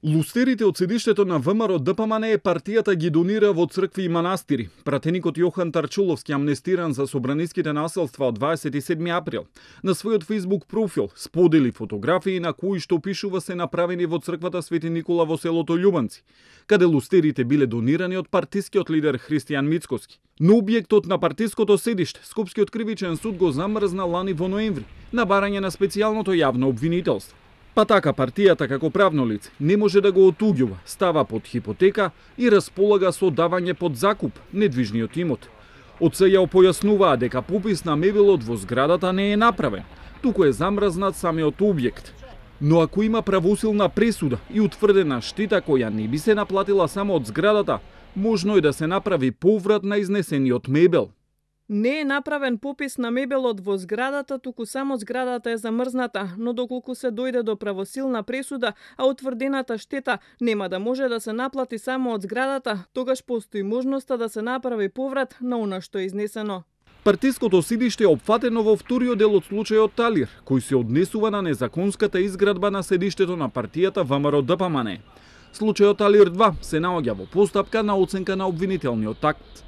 Лустерите од седиштето на ВМРО ДПМН партијата ги донира во цркви и манастири. Пратеникот Јохан Тарчуловски, амнестиран за собраниските насилства од 27 април, на својот Facebook профил сподели фотографии на кои што пишува се направени во црквата Свети Никола во селото Љубанци, каде лустерите биле донирани од партискиот лидер Христијан Мицкоски. Но објектот на партиското седиште Скопскиот кривичен суд го замрзна лани во ноември на барање на специјалното јавно обвинителство. Па така партијата како правно лице не може да го отуѓува, става под хипотека и располага со давање под закуп недвижниот имот. Од СЈО појаснуваа дека попис на мебелот во зградата не е направен, туку е замрзнат самиот објект. Но ако има правосилна пресуда и утврдена штета која не би се наплатила само од зградата, можно е да се направи поврат на изнесениот мебел. Не е направен попис на мебелот во зградата, туку само зградата е замрзната, но доколку се дојде до правосилна пресуда, а утврдената штета нема да може да се наплати само од зградата, тогаш постои можноста да се направи поврат на она што е изнесено. Партиското седиште е опфатено во вториот дел од случајот Талир, кој се однесува на незаконската изградба на седиштето на партијата ВМРО ДПМН. Случајот Талир 2 се наоѓа во постапка на оценка на обвинителниот акт.